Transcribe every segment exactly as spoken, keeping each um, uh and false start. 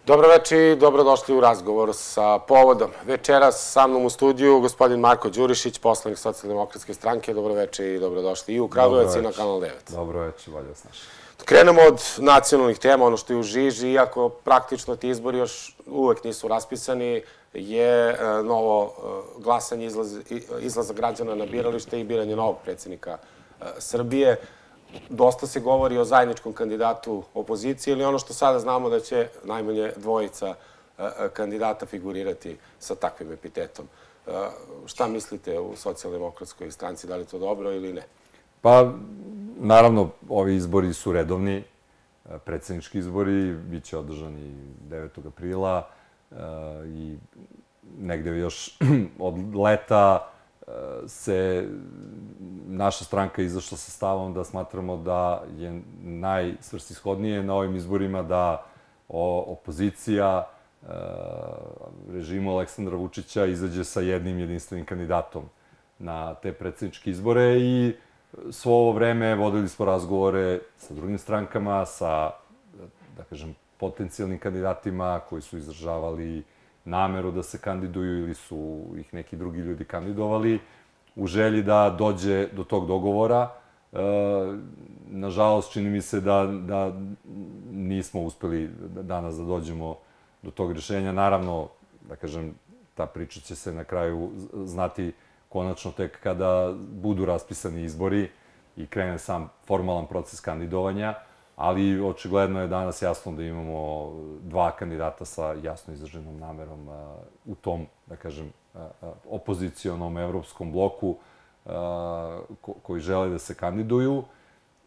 Dobro večer i dobrodošli u razgovor sa povodom. Večeras sa mnom u studiju gospodin Marko Đurišić, poslanik Socijaldemokratske stranke. Dobro večer i dobrodošli i u Kragujevac i na Kanal devet. Dobro večer, bolje vas našli. Krenemo od nacionalnih tema, ono što je u žiži, iako praktično ti izbori još uvek nisu raspisani, je novo glasanje, izlaza građana na biralište i biranje novog predsjednika Srbije. Dosta se govori o zajedničkom kandidatu opozicije ili ono što sada znamo da će najmanje dvojica kandidata figurirati sa takvim epitetom. Šta mislite u Socijaldemokratskoj stranci, da li je to dobro ili ne? Pa, naravno, ovi izbori su redovni, predsjednički izbori, bit će održani devetog aprila i negde još od leta se naša stranka izašla sa stavom da smatramo da je najsvrsishodnije na ovim izborima da opozicija režimu Aleksandra Vučića izađe sa jednim jedinstvenim kandidatom na te predsjedničke izbore i svo ovo vreme vodili smo razgovore sa drugim strankama, sa, da kažem, potencijalnim kandidatima koji su izražavali nameru da se kandiduju ili su ih neki drugi ljudi kandidovali u želji da dođe do tog dogovora. Nažalost, čini mi se da, da nismo uspeli danas da dođemo do tog rješenja. Naravno, da kažem, ta priča će se na kraju znati konačno tek kada budu raspisani izbori i krene sam formalan proces kandidovanja, ali očigledno je danas jasno da imamo dva kandidata sa jasno izraženom namerom u tom, da kažem, opozicionom evropskom bloku koji žele da se kandiduju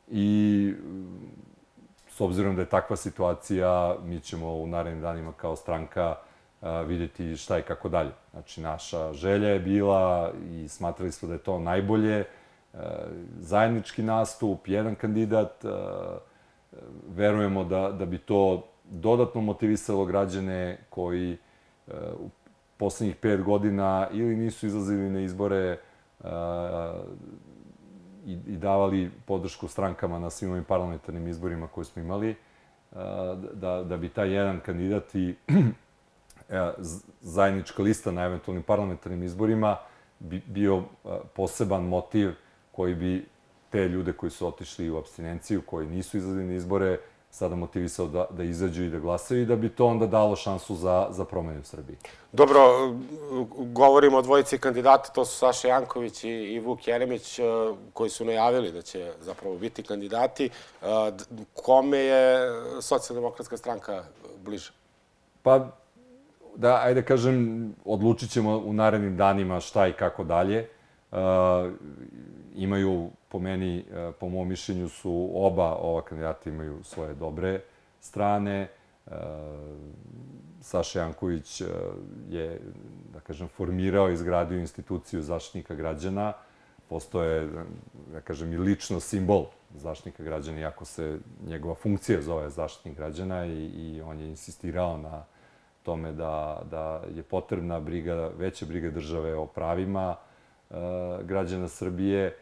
i s obzirom da je takva situacija, mi ćemo u narednim danima kao stranka vidjeti šta i kako dalje. Znači, naša želja je bila i smatrali smo da je to najbolje. Zajednički nastup, jedan kandidat, verujemo da, da bi to dodatno motivisalo građane koji u poslednjih pet godina ili nisu izlazili na izbore i, i davali podršku strankama na svim ovim parlamentarnim izborima koje smo imali, da, da bi taj jedan kandidat i zajednička lista na eventualnim parlamentarnim izborima bi bio poseban motiv koji bi te ljude koji su otišli u apstinenciju, koji nisu izlazili na izbore, sada motivisao da, da izađu i da glasaju i da bi to onda dalo šansu za, za promene u Srbiji. Dobro, govorimo o dvojici kandidata, to su Saša Janković i, i Vuk Jeremić, koji su najavili da će zapravo biti kandidati. Kome je Socijaldemokratska stranka bliža? Pa, da, ajde kažem, odlučit ćemo u narednim danima šta i kako dalje. Imaju, po meni, po mom mišljenju su oba ova kandidata imaju svoje dobre strane. Saša Janković je, da kažem, formirao i izgradio instituciju Zaštitnika građana. Postoje, da kažem, i lično simbol Zaštitnika građana, iako se njegova funkcija zove Zaštitnik građana i, i on je insistirao na tome da, da je potrebna briga, veća briga države o pravima građana Srbije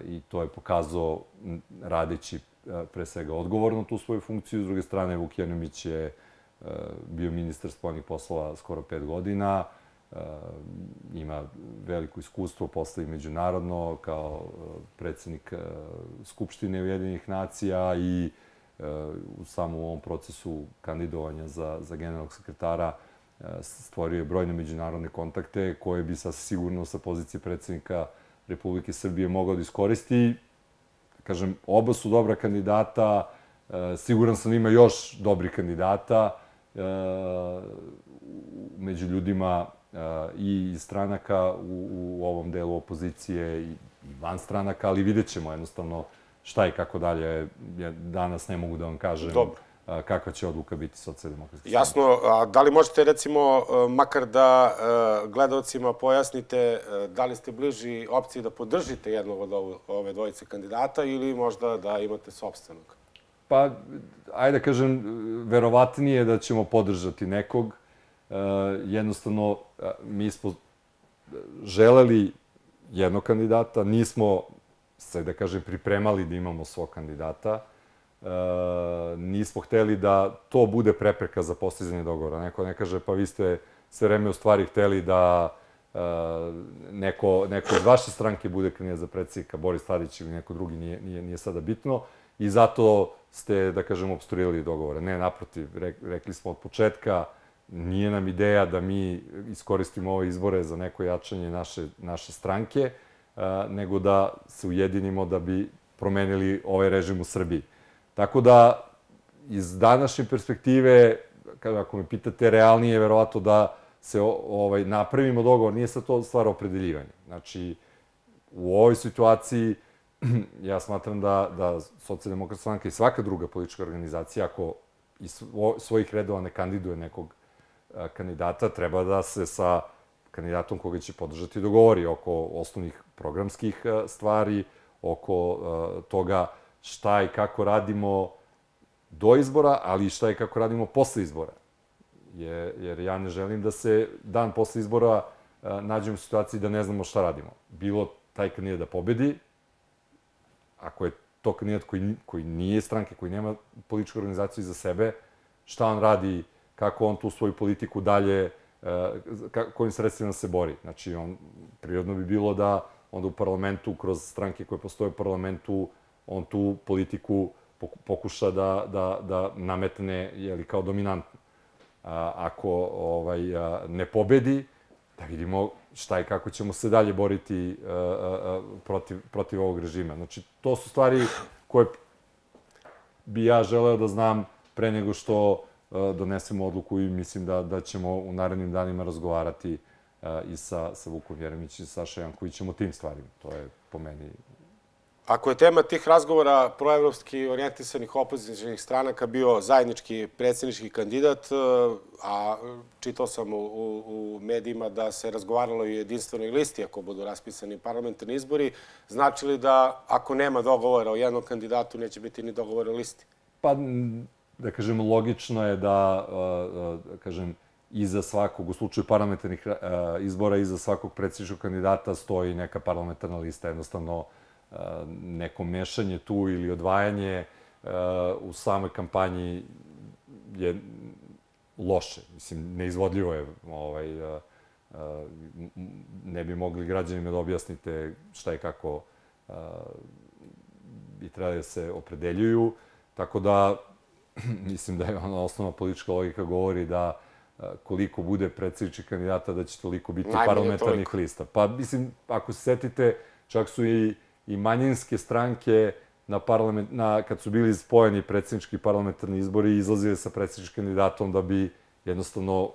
i to je pokazao radeći pre svega odgovorno tu svoju funkciju. S druge strane, Vuk Jeremić je bio ministar spoljnih poslova skoro pet godina, ima veliko iskustvo posle i međunarodno kao predsjednik Skupštine Ujedinjenih nacija i u samom ovom procesu kandidovanja za, za generalnog sekretara stvorio je brojne međunarodne kontakte koje bi sa sigurno sa pozicije predsjednika Republike Srbije mogao da iskoristi. Kažem, oba su dobra kandidata, siguran sam da ima još dobrih kandidata među ljudima i iz stranaka u, u ovom delu opozicije i van stranaka, ali vidjet ćemo jednostavno šta i kako dalje. Ja danas ne mogu da vam kažem Dobro. kakva će odluka biti Socijaldemokratske stranke. Jasno, a da li možete recimo makar da gledalcima pojasnite da li ste bliži opciji da podržite jednog od ove dvojice kandidata ili možda da imate sopstvenog? Pa, ajde da kažem, verovatnije da ćemo podržati nekog. Jednostavno, mi smo želeli jednog kandidata, nismo se, da kažem, pripremali da imamo svog kandidata. nismo hteli da to bude prepreka za postizanje dogovora. Neko ne kaže, pa vi ste sve vreme u stvari hteli da neko, neko iz vaše stranke bude kandidat za predsjednika, Boris Tadić ili neko drugi, nije, nije, nije sada bitno. I zato ste, da kažem, obstruirali dogovore. Ne, naprotiv, rekli smo od početka, nije nam ideja da mi iskoristimo ove izbore za neko jačanje naše, naše stranke, nego da se ujedinimo da bi promenili ovaj režim u Srbiji. Tako da, iz današnje perspektive, ako me pitate, realnije je verovatno da se ovaj, napravimo dogovor, nije sad to stvar opredeljivanja. Znači, u ovoj situaciji, ja smatram da, da Socijaldemokratska stranka i svaka druga politička organizacija, ako iz svojih redova ne kandiduje nekog kandidata, treba da se sa kandidatom koga će podržati dogovori oko osnovnih programskih stvari, oko toga šta i kako radimo do izbora, ali i šta i kako radimo posle izbora. Jer ja ne želim da se dan posle izbora nađemo u situaciji da ne znamo šta radimo. Bilo taj kandidat da pobedi, ako je to kandidat koji, koji nije stranke, koji nema političku organizaciju iza sebe, šta on radi, kako on tu svoju politiku dalje, kojim sredstvima se bori. Znači, on, prirodno bi bilo da onda u parlamentu, kroz stranke koje postoje u parlamentu, on tu politiku pokuša da, da, da nametne jeli, kao dominantnu. A, ako ovaj, ne pobedi, da vidimo šta i kako ćemo se dalje boriti a, a, protiv, protiv ovog režima. Znači, to su stvari koje bi ja želeo da znam pre nego što a, donesemo odluku i mislim da, da ćemo u narednim danima razgovarati a, i sa, sa Vukom Jeremićem i Saša Jankovićem o tim stvarima. To je po meni... Ako je tema tih razgovora proevropski orijentisanih opozicijnih stranaka bio zajednički predsjednički kandidat, a čitao sam u, u, u medijima da se razgovaralo i o jedinstvenoj listi ako budu raspisani parlamentarni izbori, znači li da ako nema dogovora o jednom kandidatu neće biti ni dogovora o listi? Pa, da kažem, logično je da, da kažem, iza svakog, u slučaju parlamentarnih izbora, iza svakog predsjedničkog kandidata stoji neka parlamentarna lista, jednostavno neko mešanje tu ili odvajanje u samoj kampanji je loše. Mislim, neizvodljivo je. Ovaj, ne bi mogli građanima da objasnite šta i kako bi trebali da se opredeljuju. Tako da, mislim da je ona osnovna politička logika govori da koliko bude predsjedničkih kandidata, da će toliko biti najmanje parlamentarnih toliko lista. Pa, mislim, ako se setite, čak su i i manjinske stranke na parlament, na, kad su bili spojeni predsjednički parlamentarni izbori, izlazili sa predsjedničkim kandidatom da bi jednostavno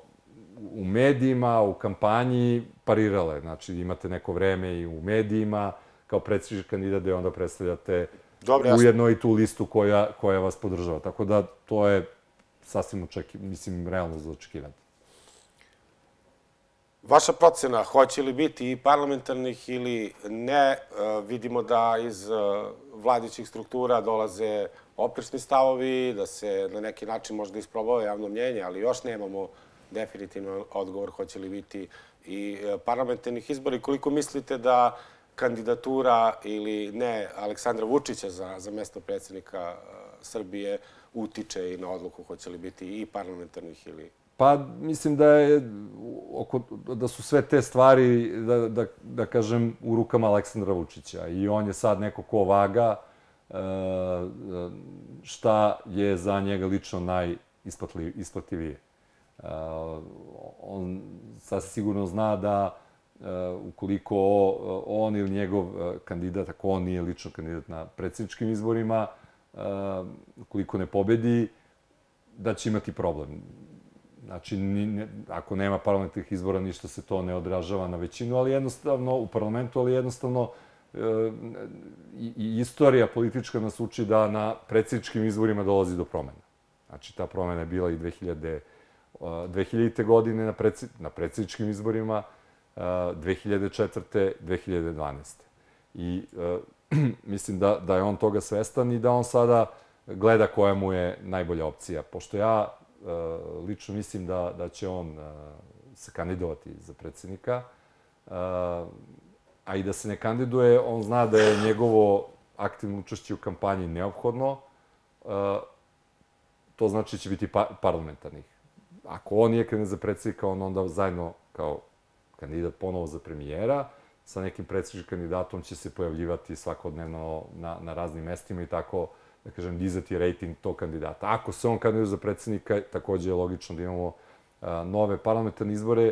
u medijima, u kampanji parirale. Znači, imate neko vreme i u medijima kao predsjednički kandidat gde onda predstavljate Dobre, ujedno i tu listu koja, koja vas podržava. Tako da to je sasvim očeki, mislim, realno za očekivati. Vaša procena, hoće li biti i parlamentarnih ili ne, vidimo da iz vladićih struktura dolaze oprečni stavovi, da se na neki način možda isprobava javno mnjenje, ali još nemamo definitivno odgovor hoće li biti i parlamentarnih izbora. I koliko mislite da kandidatura ili ne Aleksandra Vučića za, za mesto predsjednika Srbije utiče i na odluku hoće li biti i parlamentarnih ili... Pa, mislim da je, oko, da su sve te stvari, da, da, da kažem, u rukama Aleksandra Vučića. I on je sad neko ko vaga šta je za njega lično najisplativije. On sasvim sigurno zna da ukoliko on ili njegov kandidat, ako on nije lično kandidat na predsjedničkim izborima, ukoliko ne pobedi, da će imati problem. Znači, ako nema parlamentarnih izbora, ništa se to ne odražava na većinu, ali jednostavno, u parlamentu, ali jednostavno i istorija politička nas uči da na predsjedničkim izborima dolazi do promena. Znači, ta promena je bila i dve hiljadite. godine na predsjedničkim izborima, dve hiljade četvrte. dve hiljade dvanaeste. I mislim da, da je on toga svestan i da on sada gleda koja mu je najbolja opcija. Pošto ja lično mislim da, da će on se kandidovati za predsjednika, a i da se ne kandiduje, on zna da je njegovo aktivno učešće u kampanji neophodno, to znači će biti parlamentarnih. Ako on nije kandidat za predsjednika, on onda zajedno kao kandidat ponovo za premijera, sa nekim predsjedničkim kandidatom će se pojavljivati svakodnevno na, na raznim mestima i tako, da kažem, dizati rejting tog kandidata. Ako se on kandidat za predsjednika, takođe je logično da imamo a, nove parlamentarne izbore,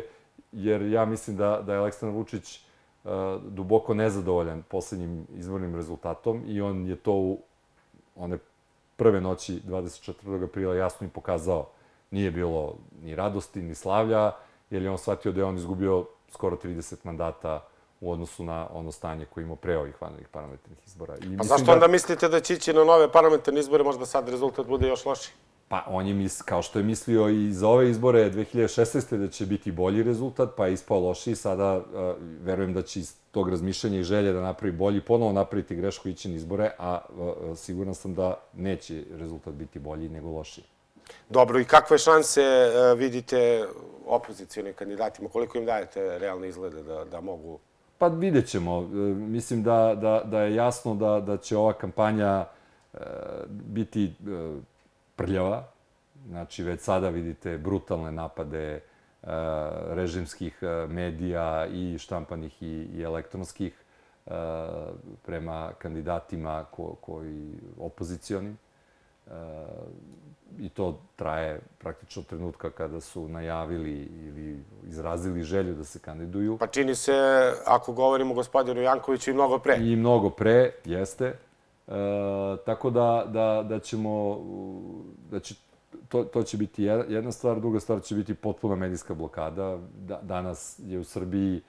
jer ja mislim da, da je Aleksandar Vučić a, duboko nezadovoljan poslednjim izbornim rezultatom i on je to u one prve noći dvadeset četvrtog aprila jasno i pokazao. Nije bilo ni radosti, ni slavlja, jer je on shvatio da je on izgubio skoro trideset mandata u odnosu na ono stanje koje imao pre ovih vanrednih parlamentarnih izbora. I pa zašto onda mislite da će ići na nove parlamentarne izbore, možda sad rezultat bude još lošiji? Pa on je, mis, kao što je mislio i za ove izbore dve hiljade šesnaeste. da će biti bolji rezultat, pa je ispao lošiji. Sada uh, verujem da će iz tog razmišljanja i želje da napravi bolji, ponovo napraviti grešku i ići na izbore, a uh, siguran sam da neće rezultat biti bolji nego lošiji. Dobro, i kakve šanse uh, vidite opozicijalnim kandidatima? Koliko im dajete realne izglede da, da mogu... Pa vidjet ćemo. Mislim da, da, da je jasno da, da će ova kampanja e, biti e, prljava. Znači, već sada vidite brutalne napade e, režimskih medija i štampanih i, i elektronskih e, prema kandidatima ko, koji opozicioni. E, I to traje praktično od trenutka kada su najavili ili izrazili želju da se kandiduju. Pa čini se, ako govorimo o gospodinu Jankoviću, i mnogo pre. I mnogo pre, jeste. E, tako da, da, da ćemo, da će, to, to će biti jedna stvar, druga stvar će biti potpuna medijska blokada. Da, danas je u Srbiji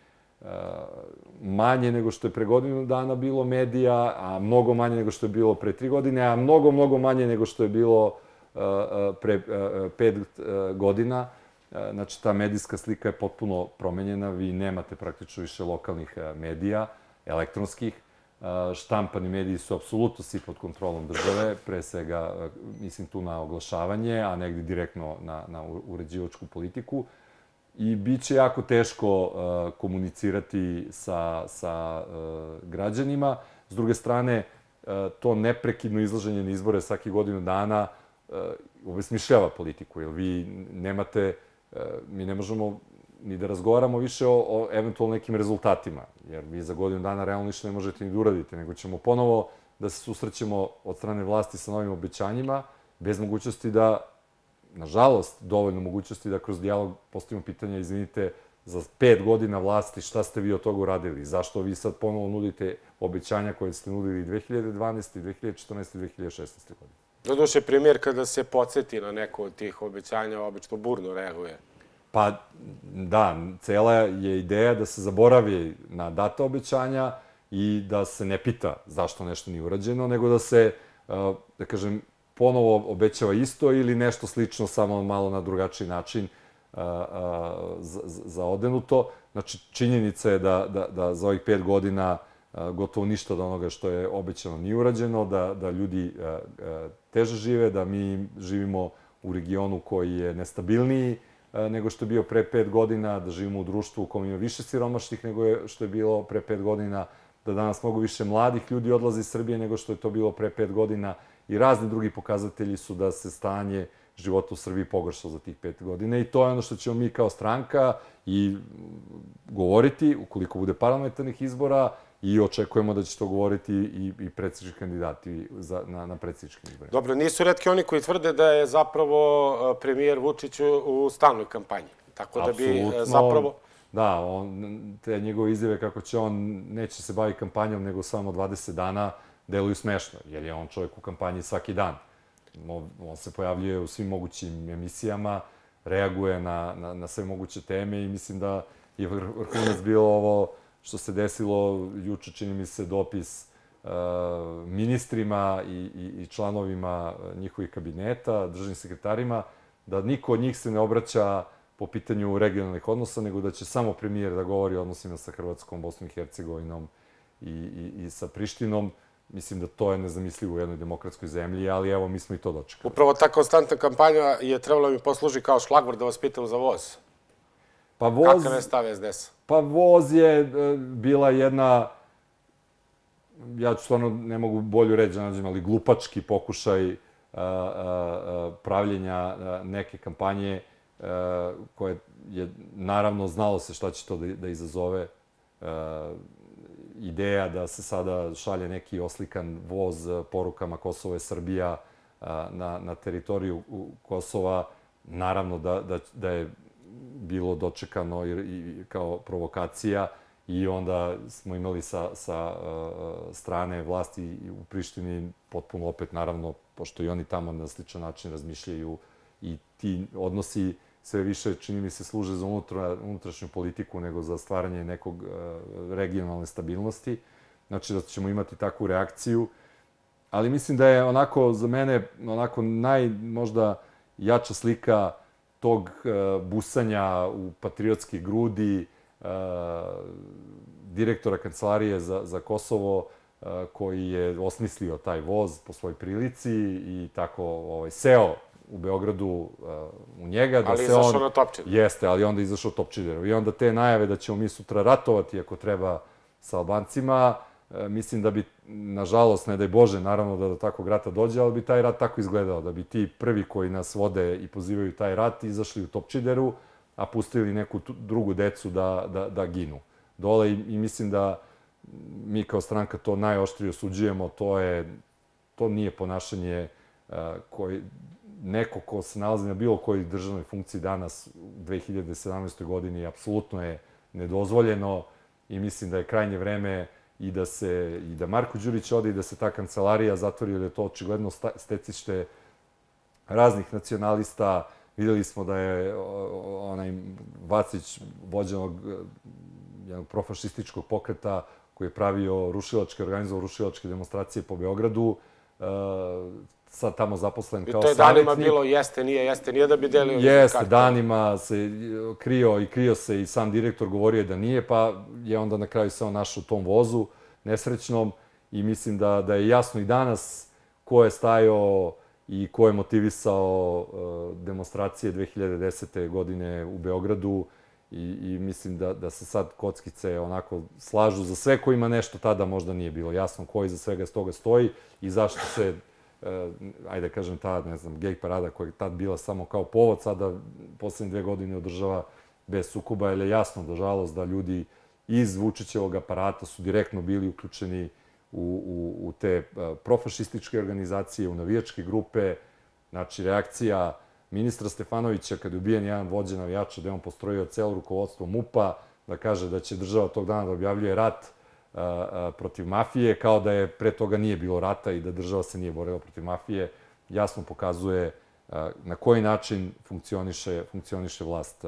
e, manje nego što je pre godinu dana bilo medija, a mnogo manje nego što je bilo pre tri godine, a mnogo, mnogo manje nego što je bilo pre pet godina. Znači, ta medijska slika je potpuno promenjena. Vi nemate praktično više lokalnih medija, elektronskih. Štampani mediji su apsolutno svi pod kontrolom države, pre svega, mislim tu na oglašavanje, a negdje direktno na, na uređivačku politiku. I bit će jako teško komunicirati sa, sa građanima. S druge strane, to neprekidno izlaženje na izbore svaki godinu dana obesmišljava politiku, jer vi nemate, mi ne možemo ni da razgovaramo više o, o eventualno nekim rezultatima, jer vi za godinu dana realno ništa ne možete ni da uradite, nego ćemo ponovo da se susrećemo od strane vlasti sa novim obećanjima, bez mogućnosti da, nažalost, dovoljno mogućnosti da kroz dijalog postavimo pitanje, izvinite, za pet godina vlasti šta ste vi od toga uradili, zašto vi sad ponovo nudite obećanja koje ste nudili dve hiljade dvanaeste, dve hiljade četrnaeste i dve hiljade šesnaeste. godine. Doduše, premijer kada se podsjeti na neko od tih obećanja, obično burno reaguje. Pa da, cela je ideja da se zaboravi na data obećanja i da se ne pita zašto nešto nije urađeno, nego da se, da kažem, ponovo obećava isto ili nešto slično, samo malo na drugačiji način zaodenuto. Znači, činjenica je da, da, da za ovih pet godina gotovo ništa od onoga što je obećano nije urađeno, da, da ljudi teže žive, da mi živimo u regionu koji je nestabilniji nego što je bio pre pet godina, da živimo u društvu u kojem ima više siromašnih nego je, što je bilo pre pet godina, da danas mnogo više mladih ljudi odlazi iz Srbije nego što je to bilo pre pet godina i razni drugi pokazatelji su da se stanje života u Srbiji pogoršalo za tih pet godina i to je ono što ćemo mi kao stranka i govoriti ukoliko bude parlamentarnih izbora i očekujemo da će to govoriti i, i predsjednički kandidati za, na, na predsjedničkim izborima. Dobro, nisu retki oni koji tvrde da je zapravo premijer Vučić u stalnoj kampanji. Tako da bi Apsolutno, zapravo... Da, on, te njegove izjave kako će on, neće se baviti kampanjom nego samo dvadeset dana, deluju smešno, jer je on čovjek u kampanji svaki dan. On, on se pojavljuje u svim mogućim emisijama, reaguje na, na, na sve moguće teme i mislim da je vrhunac bilo ovo što se desilo juče, čini mi se, dopis uh, ministrima i, i, i članovima njihovih kabineta, državnim sekretarima, da niko od njih se ne obraća po pitanju regionalnih odnosa, nego da će samo premijer da govori o odnosima sa Hrvatskom, Bosnom i Hercegovinom i, i, i sa Prištinom. Mislim da to je nezamislivo u jednoj demokratskoj zemlji, ali evo, mi smo i to dočekali. Upravo ta konstantna kampanja je trebala mi posluži kao šlagvor da vas pitam za voz. Pa voz... Kakav je stav es de es-a? Pa voz je e, bila jedna, ja ću stvarno ne mogu bolju reći da nađem, ali glupački pokušaj e, pravljenja neke kampanje koje je, naravno, znalo se šta će to da izazove. Ideja da se sada šalje neki oslikan voz porukama Kosovo je Srbija na, na teritoriju Kosova, naravno da, da, da je bilo dočekano i, i kao provokacija i onda smo imali sa, sa uh, strane vlasti u Prištini potpuno opet, naravno, pošto i oni tamo na sličan način razmišljaju i ti odnosi sve više, čini mi se, služe za unutra, unutrašnju politiku nego za stvaranje nekog uh, regionalne stabilnosti. Znači da ćemo imati takvu reakciju. Ali mislim da je onako, za mene, onako naj, možda jača slika tog uh, busanja u patriotske grudi uh, direktora Kancelarije za, za Kosovo, uh, koji je osmislio taj voz po svojoj prilici i tako ovaj, seo u Beogradu uh, u njega. Da ali se izašao on, na Topčider. Jeste, ali onda izašao Topčideru. I onda te najave da ćemo mi sutra ratovati ako treba sa Albancima, uh, mislim da bi, nažalost, ne daj Bože, naravno da do takvog rata dođe, ali bi taj rat tako izgledao, da bi ti prvi koji nas vode i pozivaju taj rat izašli u Topčideru, a pustili neku drugu decu da, da, da ginu dole. I, i mislim da mi kao stranka to najoštrije osuđujemo. To je, to nije ponašanje uh, koji, neko ko se nalazi na bilo kojoj državnoj funkciji danas u dve hiljade sedamnaestoj godini apsolutno je nedozvoljeno i mislim da je krajnje vreme i da se i da Marko Đurić ode i da se ta kancelarija zatvori, jer je to očigledno stecište raznih nacionalista. Videli smo da je onaj Vacić, vođenog jednog profašističkog pokreta koji je pravio rušilačke, organizovao rušilačke demonstracije po Beogradu, sad tamo zaposlen kao savjetnik. I to je danima bilo jeste, nije, jeste, nije da bi delio jeste, karte. Danima se krio i krio se i sam direktor govorio da nije, pa je onda na kraju se on našao u tom vozu nesrećnom i mislim da, da je jasno i danas ko je stajao i ko je motivisao uh, demonstracije dve hiljade desete. godine u Beogradu i, i mislim da, da se sad kockice onako slažu za sve kojima nešto tada možda nije bilo jasno, ko iza svega toga stoji i zašto se Uh, ajde kažem, ta, ne znam, gej parada koja je tad bila samo kao povod, sada poslednje dve godine održava bez sukoba, jer je jasno, nažalost, da ljudi iz Vučićevog aparata su direktno bili uključeni u, u, u te uh, profašističke organizacije, u navijačke grupe. Znači, reakcija ministra Stefanovića kad je ubijen jedan vođa navijača, da je on postrojio celo rukovodstvo MUP-a, da kaže da će država tog dana da objavljuje rat protiv mafije, kao da je pre toga nije bilo rata i da država se nije borila protiv mafije, jasno pokazuje na koji način funkcioniše, funkcioniše vlast,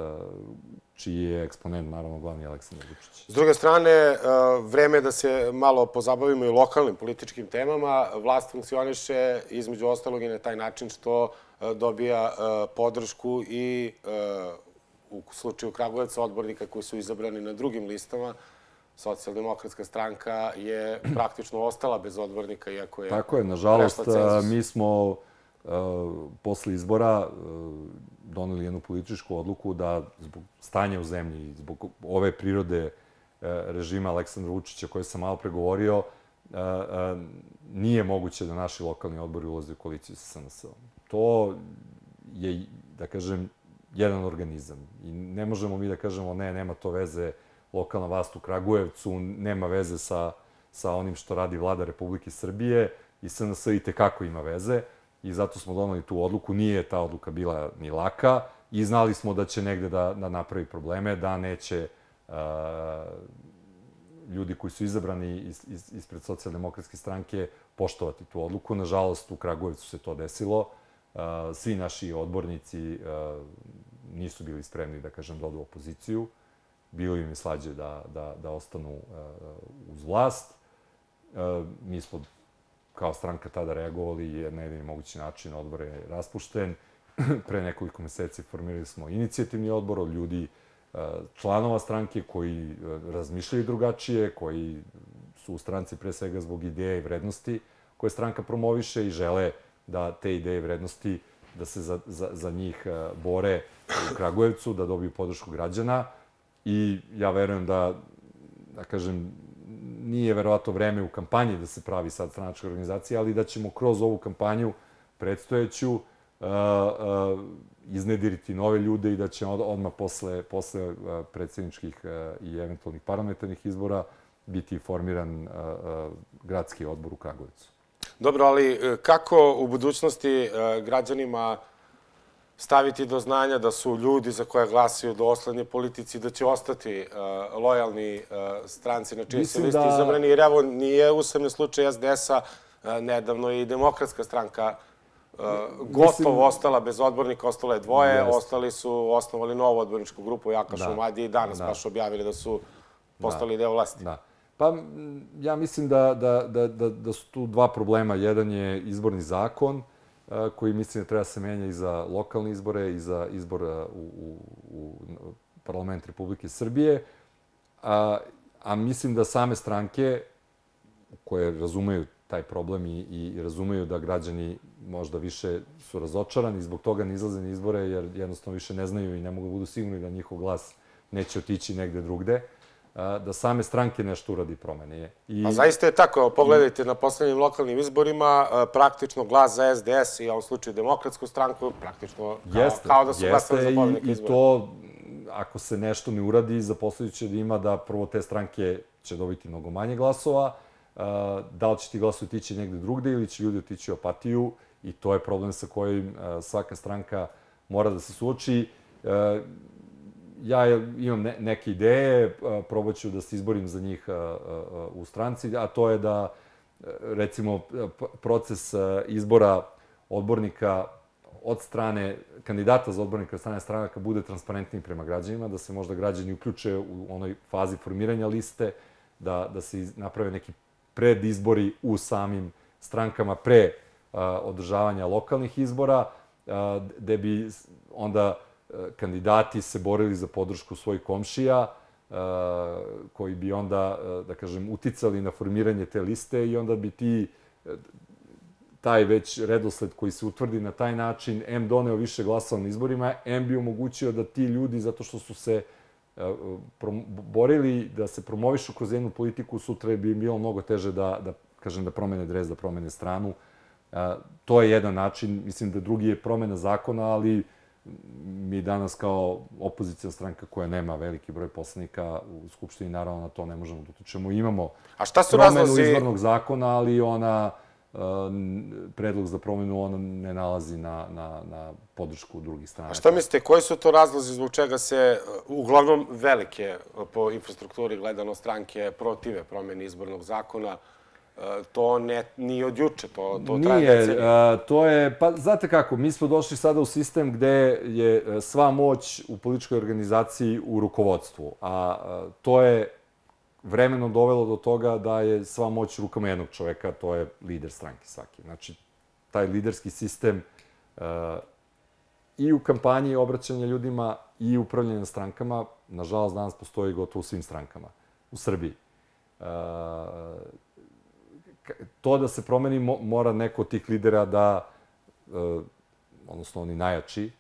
čiji je eksponent, naravno, glavni Aleksandar Vučić. S druge strane, vreme je da se malo pozabavimo i lokalnim političkim temama. Vlast funkcioniše, između ostalog, i na taj način što dobija podršku i u slučaju Kragujevca odbornika koji su izabrani na drugim listama. Socijaldemokratska stranka je praktično ostala bez odbornika, iako je... Tako je, nažalost, mi smo posle izbora doneli jednu političku odluku da zbog stanja u zemlji, zbog ove prirode režima Aleksandra Vučića koje sam malo pregovorio, nije moguće da naši lokalni odbori ulaze u koaliciju sa S N S-om. To je, da kažem, jedan organizam. I ne možemo mi da kažemo ne, nema to veze, lokalna vlast u Kragujevcu, nema veze sa, sa onim što radi vlada Republike Srbije i S N S i tekako ima veze i zato smo donali tu odluku. Nije ta odluka bila ni laka i znali smo da će negde da, da napravi probleme, da neće uh, ljudi koji su izabrani iz, iz, ispred Socijaldemokratske stranke poštovati tu odluku. Nažalost, u Kragujevcu se to desilo. Uh, svi naši odbornici uh, nisu bili spremni, da kažem, da odu u opoziciju. Bilo im je slađe da, da, da ostanu uh, uz vlast. Uh, mi smo kao stranka tada reagovali jer na jedan mogući način odbor je raspušten. Pre nekoliko meseci formirali smo inicijativni odbor od ljudi, uh, članova stranke koji uh, razmišljaju drugačije, koji su u stranci pre svega zbog ideje i vrednosti koje stranka promoviše i žele da te ideje i vrednosti da se za, za, za njih uh, bore u Kragujevcu, da dobiju podršku građana. I ja verujem da, da kažem, nije verovatno vreme u kampanji da se pravi sad stranačka organizacija, ali da ćemo kroz ovu kampanju predstojeću, iznediriti nove ljude i da će odmah posle, posle predsjedničkih i eventualnih parlamentarnih izbora biti formiran gradski odbor u Kragujevcu. Dobro, ali kako u budućnosti građanima staviti do znanja da su ljudi za koje glasaju dosledni politici, da će ostati lojalni stranci na čiji se listi izabrani? Jer evo, nije usamljen slučaj es de es-a, nedavno i Demokratska stranka gotovo ostala bez odbornika, ostalo je dvoje, ostali su osnovali novu odborničku grupu Jaka Šumadije i danas baš objavili da su postali deo vlasti. Da. Pa ja mislim da, da, da, da, da su tu dva problema. Jedan je izborni zakon, koji mislim da treba se menja i za lokalne izbore i za izbor u, u, u parlament Republike Srbije. A, a mislim da same stranke koje razumeju taj problem i, i razumeju da građani možda više su razočarani, zbog toga ne izlaze na izbore jer jednostavno više ne znaju i ne mogu da budu sigurni da njihov glas neće otići negde drugde, da same stranke nešto uradi promene. I... A zaista je tako. Pogledajte, na poslednjim lokalnim izborima praktično glas za es de es i u ovom slučaju Demokratsku stranku praktično kao, jeste, kao da su glasali za pobednika izbora. I to, ako se nešto ne uradi, za posledicu da ima da prvo te stranke će dobiti mnogo manje glasova, da li će ti glas otići negde drugde ili će ljudi otići u apatiju i to je problem sa kojim svaka stranka mora da se suoči. Ja imam neke ideje, probat ću da se izborim za njih u stranci, a to je da, recimo, proces izbora odbornika od strane, kandidata za odbornika od strane stranaka bude transparentniji prema građanima, da se možda građani uključe u onoj fazi formiranja liste, da, da se naprave neki predizbori u samim strankama pre održavanja lokalnih izbora, gde bi onda kandidati se borili za podršku svojih komšija, koji bi onda, da kažem, uticali na formiranje te liste i onda bi ti, taj već redosled koji se utvrdi na taj način, em doneo više glasova na izborima, em bi omogućio da ti ljudi, zato što su se borili da se promovišu kroz jednu politiku, sutra bi im bilo mnogo teže da, da kažem, da promene dres, da promene stranu. To je jedan način. Mislim da drugi je promena zakona, ali mi danas kao opozicijna stranka koja nema veliki broj poslanika u Skupštini, naravno na to ne možemo da utičemo. Imamo promenu izbornog zakona, ali ona, predlog za promenu, ona ne nalazi na, na, na podršku drugih strana. A šta mislite, koji su to razlozi zbog čega se, uglavnom velike po infrastrukturi gledano stranke, protive promeni izbornog zakona? To ne, nije od juče, to, to traje decenije. Nije, to je, pa znate kako, mi smo došli sada u sistem gde je sva moć u političkoj organizaciji u rukovodstvu, a to je vremenom dovelo do toga da je sva moć u rukama jednog čoveka, to je lider stranke svaki. Znači, taj liderski sistem i u kampanji obraćanja ljudima i upravljanja strankama, nažalost, danas postoji gotovo u svim strankama u Srbiji. To da se promeni, mora neko od tih lidera da, odnosno oni najjači,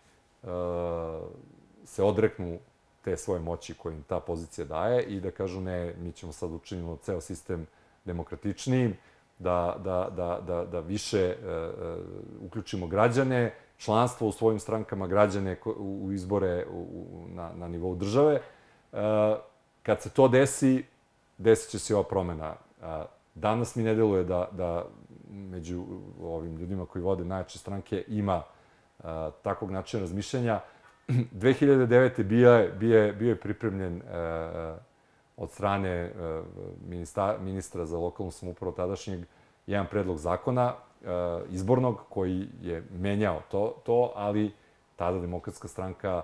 se odreknu te svoje moći koje im ta pozicija daje i da kažu ne, mi ćemo sad učiniti ceo sistem demokratičnijim, da, da, da, da, da više uključimo građane, članstvo u svojim strankama, građane u izbore na, na nivou države. Kad se to desi, desit će se ova promena. Danas mi ne deluje da, da među ovim ljudima koji vode najjače stranke ima a, takvog načina razmišljanja. dve hiljade devete. bio je, bio je, bio je pripremljen a, od strane a, ministra, ministra za lokalnu samoupravu tadašnjeg jedan predlog zakona a, izbornog koji je menjao to, to, ali tada Demokratska stranka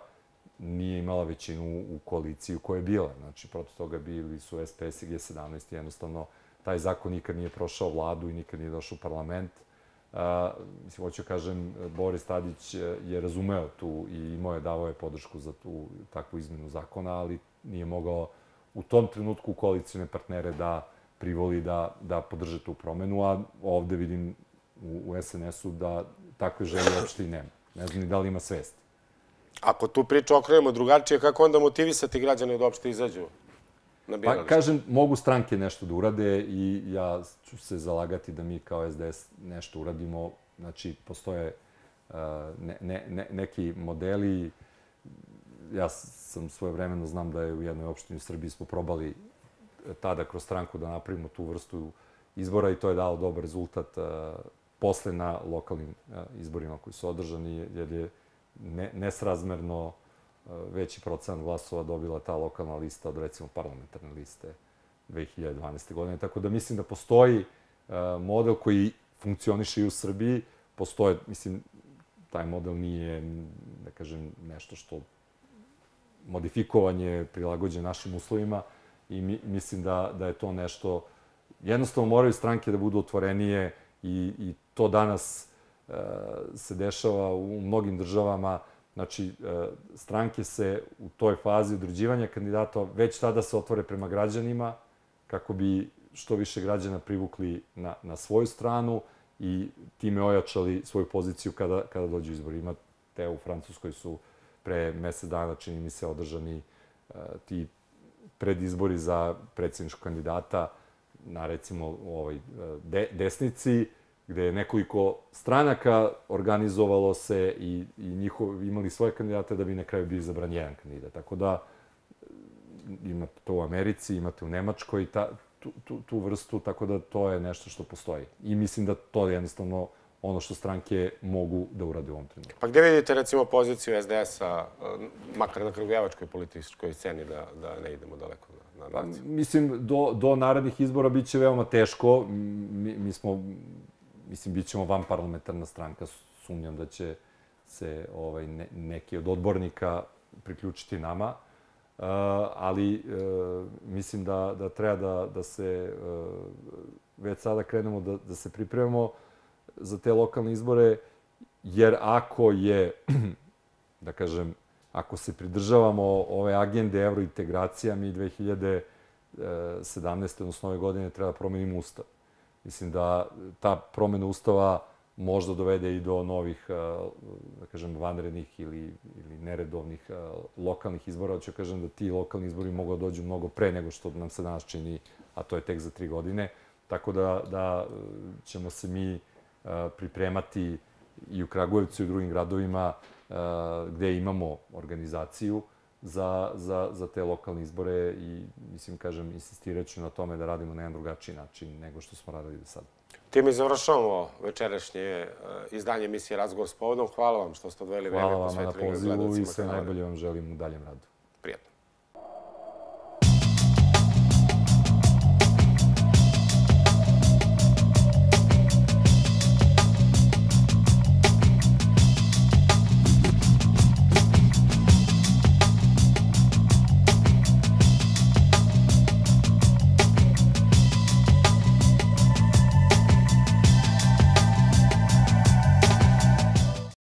nije imala većinu u koaliciji u kojoj je bila. Znači, protiv toga bili su es pe es i ge sedamnaest i jednostavno taj zakon nikad nije prošao vladu i nikad nije došao u parlament. Uh, mislim, hoću kažem, Boris Tadić je razumeo tu i imao je, davao je podršku za tu takvu izmenu zakona, ali nije mogao u tom trenutku koalicijne partnere da privoli da, da podrže tu promenu, a ovde vidim u, u es en es-u da takve želje uopšte i nema. Ne znam ni da li ima svest. Ako tu priču okrenemo drugačije, kako onda motivisati građane da uopšte izađu? Pa, kažem, mogu stranke nešto da urade i ja ću se zalagati da mi kao es de es nešto uradimo. Znači, postoje ne, ne, ne, neki modeli. Ja sam svojevremeno znam da je u jednoj opštini u Srbiji smo probali tada kroz stranku da napravimo tu vrstu izbora i to je dalo dobar rezultat posle na lokalnim izborima koji su održani, jer je ne, nesrazmerno veći procenat glasova dobila ta lokalna lista od, recimo, parlamentarne liste dve hiljade dvanaeste. godine. Tako da mislim da postoji model koji funkcioniše i u Srbiji. Postoje, mislim, taj model nije, da kažem, nešto što modifikovanje, prilagođen našim uslovima i mi, mislim da, da je to nešto. Jednostavno moraju stranke da budu otvorenije i, i to danas e, se dešava u mnogim državama. Znači, e, stranke se u toj fazi određivanja kandidata već tada se otvore prema građanima kako bi što više građana privukli na, na svoju stranu i time ojačali svoju poziciju kada, kada dođu izbori. Imate u Francuskoj su pre mesec dana, čini mi se, održani uh, ti predizbori za predsjedničkog kandidata na, recimo, ovoj de, desnici, gde je nekoliko stranaka organizovalo se i, i njihov, imali svoje kandidate da bi na kraju bio izabran jedan kandidat. Tako da imate to u Americi, imate u Nemačkoj, ta, tu, tu, tu vrstu, tako da to je nešto što postoji. I mislim da to je jednostavno ono što stranke mogu da urade u ovom trenutku. Pa gde vidite, recimo, poziciju es de es-a, makar na kragujevačkoj političkoj sceni, da, da ne idemo daleko na, na naciju? Pa, mislim, do, do narednih izbora bit će veoma teško. Mi, mi smo, mislim, bit ćemo vanparlamentarna stranka. Sumnjam da će se ovaj, ne, neki od odbornika priključiti nama. Uh, ali uh, mislim da, da treba da, da se uh, već sada krenemo da, da se pripremamo za te lokalne izbore, jer ako je, da kažem, ako se pridržavamo ove agende evrointegracija, mi dve hiljade sedamnaeste. odnosno ove godine treba da promenimo ustav. Mislim da ta promena ustava možda dovede i do novih, da kažem, vanrednih ili, ili neredovnih lokalnih izbora. Hoću kažem da ti lokalni izbori mogu da dođu mnogo pre nego što nam se danas čini, a to je tek za tri godine. Tako da, da ćemo se mi pripremati i u Kragujevcu i u drugim gradovima gde imamo organizaciju za, za, za te lokalne izbore i, mislim, kažem, insistirat ću na tome da radimo na jedan drugačiji način nego što smo radili do sada. Time završavamo večerašnje izdanje emisije Razgovor s povodom. Hvala vam što ste odvojili vreme. Hvala vam na pozivu i sve najbolje vam želim u daljem radu. Prijatno.